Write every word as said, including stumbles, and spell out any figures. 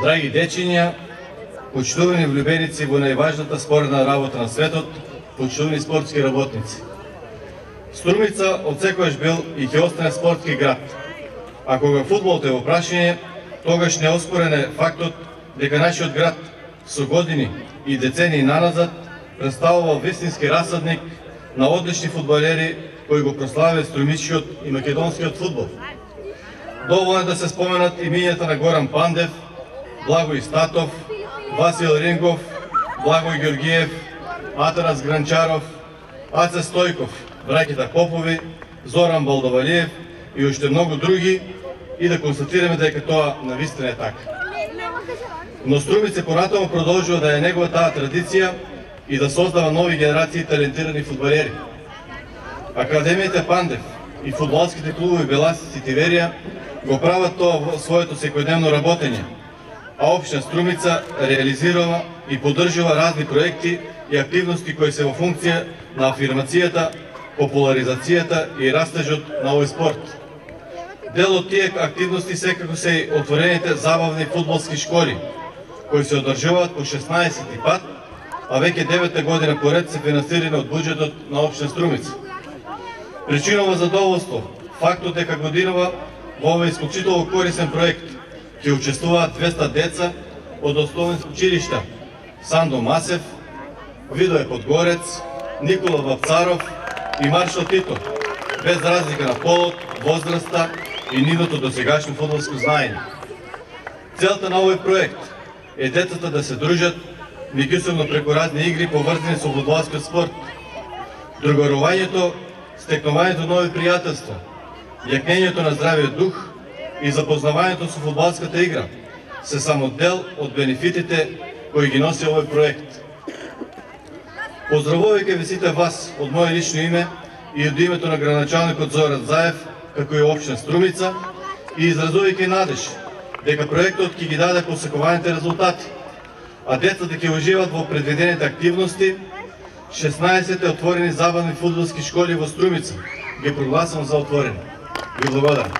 Драги дечиња, почитувани влюбеници во најважната споредна работа на светот, почитувани спортски работници. Струмица од секојаш бил и ќе остане спортски град. А кога фудбалот е во прашање, тогаш неоспорен е фактот дека нашиот град со години и децении наназад представува вистински расадник на одлични фудбалери кои го прославиле струмичкиот и македонскиот фудбал. Доволно е да се споменат имињата на Горан Пандев, Благој Статов, Васил Рингов, Благој Ѓоргиев, Атанас Гранчаров, Аце Стојков, браќата Попови, Зоран Балдовалиев и уште многу други, и да констатираме дека тоа навистина е така. Но Струмица понатаму продолжува да е негова таа традиција и да создава нови генерации талентирани фудбалери. Академијата Пандев и фудбалските клубови Беласица и Тиверија го прават тоа во своето секојдневно работење, а општина Струмица реализирава и поддржува разни проекти и активности кои се во функција на афирмацијата, популаризацијата и растежот на овој спорт. Дел од тие активности секако се и отворените забавни фудбалски школи, кои се одржуваат по шеснаесети пат, а веќе девета година поред се финансирани од буџетот на општина Струмица. Причинува задоволство фактот дека годинава во овој исклучително корисен проект ќе учествуваат двеста деца од основни училишта Сандо Масев, Видој Подгорец, Никола Вапцаров и Маршал Тито, без разлика на полот, возраста и нивното досегашно фудбалско знаење. Целта на овој проект е децата да се дружат меѓусебно преку разни игри поврзани со фудбалскиот спорт. Другарувањето, стекнувањето нови пријателства, јакнењето на здравиот дух и запознавањето со фудбалската игра се само дел од бенефитите кои ги носи овој проект. Поздравувајќи ви сите вас од моје лично име и од името на градоначалникот Зоран Заев, како и општина Струмица, и изразувајќи надеж дека проектот ќе ги даде посекуваните резултати, а децата ќе уживаат во предвидените активности, шеснаесет отворени забавни фудбалски школи во Струмица ги прогласувам за отворени. Ви благодарам.